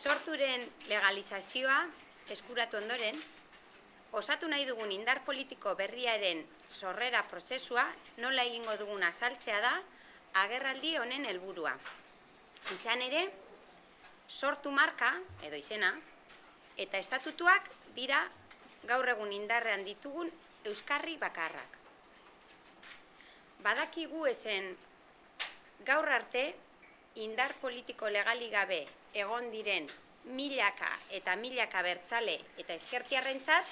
Sorturen legalizazioa eskuratu ondoren, osatu nahi dugun indar politiko berriaren sorrera prozesua nola egingo dugun azaltzea da agerraldi honen helburua. Izan ere, sortu marka, edo izena, eta estatutuak dira gaur egun indarrean ditugun euskarri bakarrak. Badakigu ezen gaur arte indar politiko legalik gabe egon diren milaka eta milaka abertzale eta ezkertiarrentzat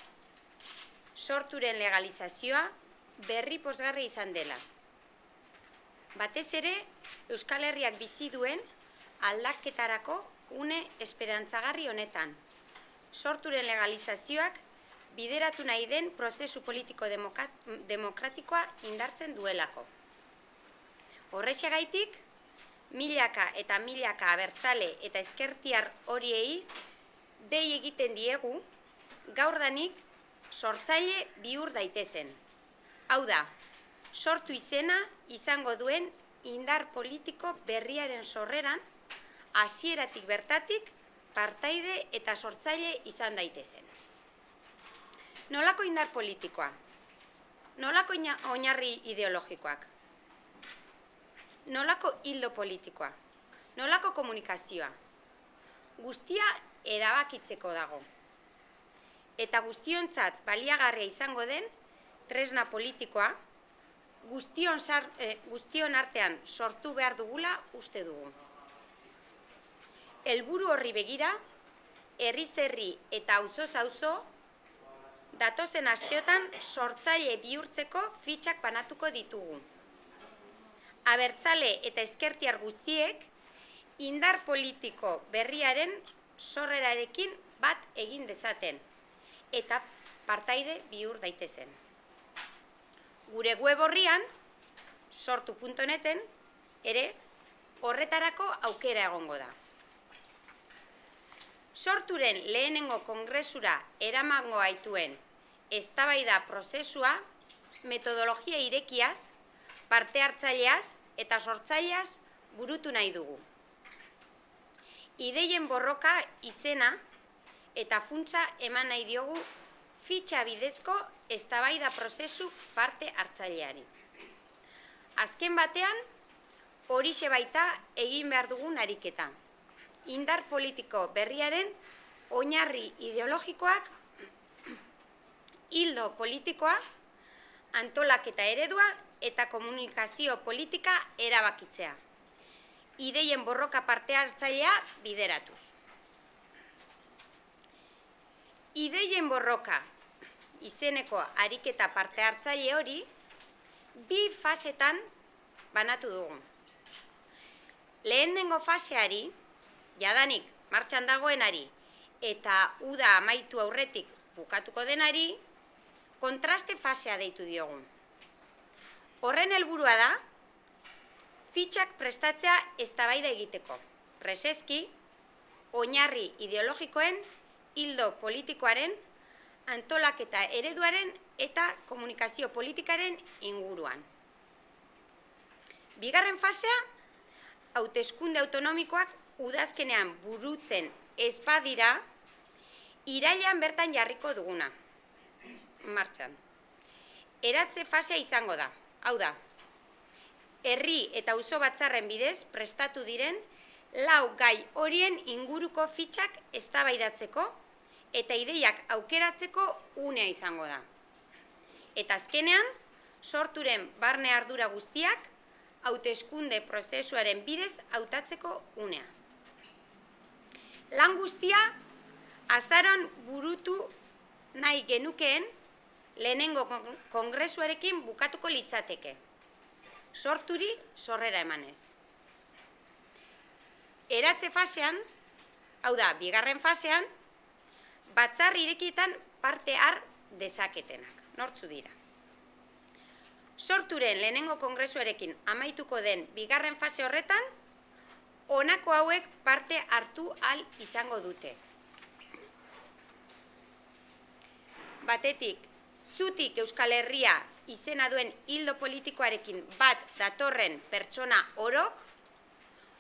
sorturen legalizazioa berri pozgarri izan dela. Batez ere, Euskal Herriak bizi duen aldaketarako une esperantzagarri honetan. Sorturen legalizazioak bideratu nahi den prozesu politiko demokratikoa indartzen duelako. Horrexeagaitik, milaka eta milaka abertzale eta ezkertiar horiei dei egiten diegu gaurdanik sortzaile bihur daitezen. Hau da, sortu izena izango duen indar politiko berriaren sorreran hasieratik bertatik partaide eta sortzaile izan daitezen. Nolako indar politikoa? Nolako oinarri ideologikoak? Nolako hildo politikoa? Nolako komunikazioa? Guztia erabakitzeko dago. Eta guztiontzat baliagarria izango den tresna politikoa guztion artean sortu behar dugula uste dugu. Helburu horri begira, herriz herri eta auzoz auzo datozen asteotan sortzaile bihurtzeko fitxak banatuko ditugu. Abertzale eta ezkertiar guztiek indar politiko berriaren sorrerarekin bat egin dezaten eta partaide bihur daitezen. Gure web orrian, sortu.neten, ere horretarako aukera egongo da. Sorturen lehenengo kongresura eramango gaituen eztabaida prozesua metodologia irekiaz, parte hartzaileaz eta sortzaileaz burutu nahi dugu. Ideien borroka izena eta funtsa eman nahi diogu fitxa bidezko eztabaida prozesu parte hartzaileari. Azken batean, horixe baita egin behar dugun ariketa. Indar politiko berriaren oinarri ideologikoak, hildo politikoa, antolaketa eredua eta komunikazio politika erabakitzea. Ideien borroka parte hartzailea bideratuz. Ideien borroka izeneko ariketa parte hartzaile hori bi fasetan banatu dugu. Lehenengo faseari, jadanik martxan dagoenari eta uda amaitu aurretik bukatuko denari, kontraste fasea deitu diogu. Horren helburua da, fitxak prestatzea eztabaida egiteko. Preseski, oinarri ideologikoen, hildo politikoaren, antolaketa ereduaren eta komunikazio politikaren inguruan. Bigarren fasea, hauteskunde autonomikoak udazkenean burutzen ez badira, irailean bertan jarriko duguna. Martxan. Eratze fasea izango da. Hau da, herri eta auzo batzarren bidez prestatu diren 4 gai horien inguruko fitxak eztabaidatzeko eta ideiak aukeratzeko unea izango da. Eta azkenean, sorturen barne ardura guztiak hauteskunde prozesuaren bidez hautatzeko unea. Lan guztia azaroan burutu nahi genukeen lehenengo kongresuarekin bukatuko litzateke. Sorturi sorrera emanez. Eratze fasean, hau da, bigarren fasean, batzar irekietan parte har dezaketenak. Nortzu dira. Sorturen lehenengo kongresuarekin amaituko den bigarren fase horretan, honako hauek parte hartu ahal izango dute. Batetik, zutik Euskal Herria izena duen hildo politikoarekin bat datorren pertsona orok,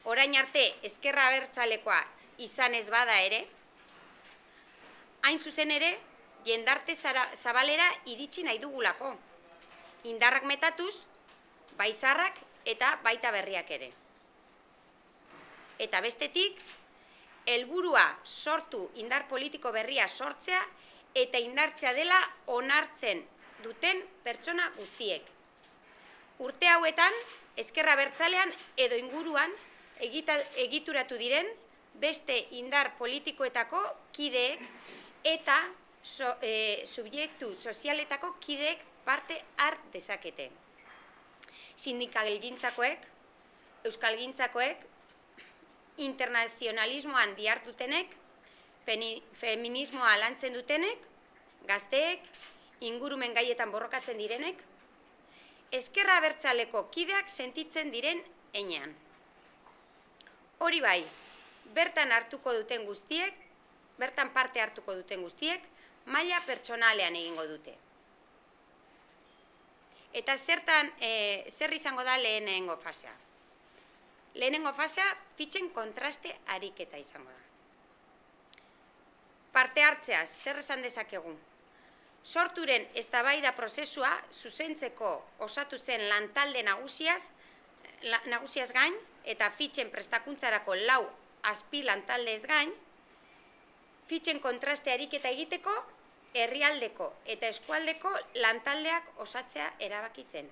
orain arte ezkerra abertzalekoa izan ez bada ere, hain zuzen ere, jendarte zabalera iritsi nahi dugulako. Indarrak metatuz, bai zaharrak eta baita berriak ere. Eta bestetik, helburua sortu indar politiko berria sortzea eta indartzea dela onartzen duten pertsona guztiek. Urte hauetan, ezker abertzalean edo inguruan egituratu diren beste indar politikoetako kideek eta subjektu sozialetako kideek parte har dezakete. Sindikalgintzakoek, euskalgintzakoek, internazionalismoan dihardutenek, feminismoa lantzen dutenek, gazteek, ingurumen gaietan borrokatzen direnek, ezkerra abertzaleko kideak sentitzen diren heinean. Hori bai, bertan parte hartuko duten guztiek, maila pertsonalean egingo dute. Eta zer izango da lehenengo fasea? Lehenengo fasea fitxen kontraste ariketa izango da. Parte hartzeaz, zer esan dezakegu? Sorturen eztabaida prozesua zuzentzeko osatu zen lantalde nagusiaz gain eta fitxen prestakuntzarako 4 azpi lantaldez gain, fitxen kontraste ariketa egiteko herrialdeko eta eskualdeko lantaldeak osatzea erabaki zen.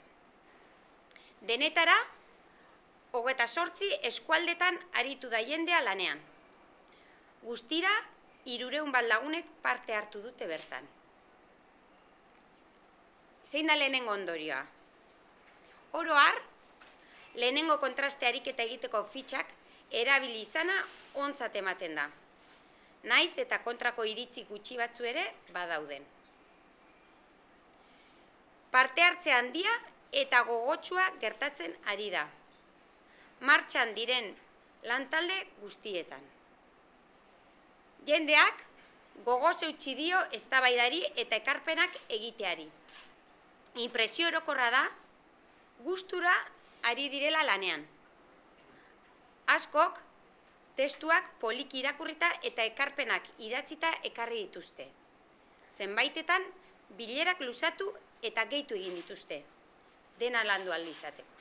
Denetara, 28 eskualdetan aritu da jendea lanean. Guztira, 300 lagunek parte hartu dute bertan. Zein da lehenengo ondorioa? Oro har, lehenengo kontraste ariketa egiteko fitxak erabili izana ontzat ematen da. Naiz eta kontrako iritzi gutxi batzu ere badauden. Parte hartze handia eta gogotsua gertatzen ari da. Martxan diren lantalde guztietan. Jendeak gogoz eutsi dio eztabaidari eta ekarpenak egiteari. Inpresio orokorra da, gustura ari direla lanean. Askok, testuak poliki irakurrita eta ekarpenak idatzita ekarri dituzte. Zenbaitetan, bilerak luzatu eta gehitu egin dituzte. Dena landu ahal izateko.